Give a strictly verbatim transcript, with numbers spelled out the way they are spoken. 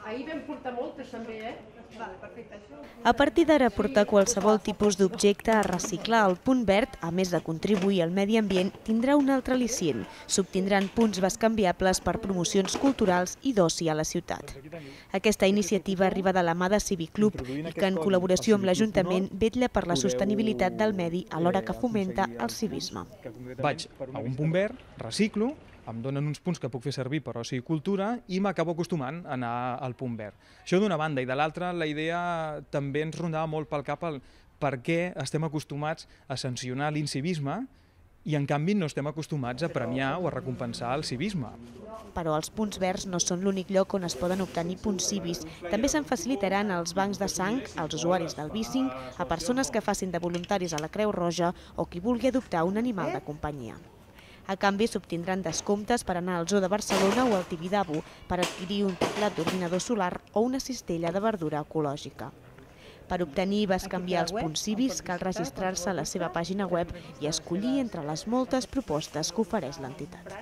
Ahir vam portar moltes també, eh? A partir d'ara, portar qualsevol tipus d'objecte a reciclar al Punt Verd, a més de contribuir al medi ambient, tindrà un altre al·licient. S'obtindran punts bescanviables per promocions culturals i d'oci a la ciutat. Aquesta iniciativa arriba de la mà de Cívic Club i que, en col·laboració amb l'Ajuntament, vetlla per la sostenibilitat del medi alhora que fomenta el civisme. Vaig a un punt verd, reciclo, em donen uns punts que puc fer servir per oci i cultura i m'acabo acostumant a anar al punt verd. Això d'una banda, i de l'altra la idea també ens rondava molt pel cap el per què estem acostumats a sancionar l'incivisme i en canvi no estem acostumats a premiar o a recompensar el civisme. Però els punts verds no són l'únic lloc on es poden obtenir punts civis. També se'n facilitaran als bancs de sang, als usuaris del bicing, a persones que facin de voluntaris a la Creu Roja o qui vulgui adoptar un animal de companyia. A canvi, s'obtindran descomptes per anar al Zoo de Barcelona o al Tibidabo per adquirir un teclat d'ordinador solar o una cistella de verdura ecològica. Per obtenir i bescanviar els punts civis cal registrar-se a la seva pàgina web i escollir entre les moltes propostes que ofereix l'entitat.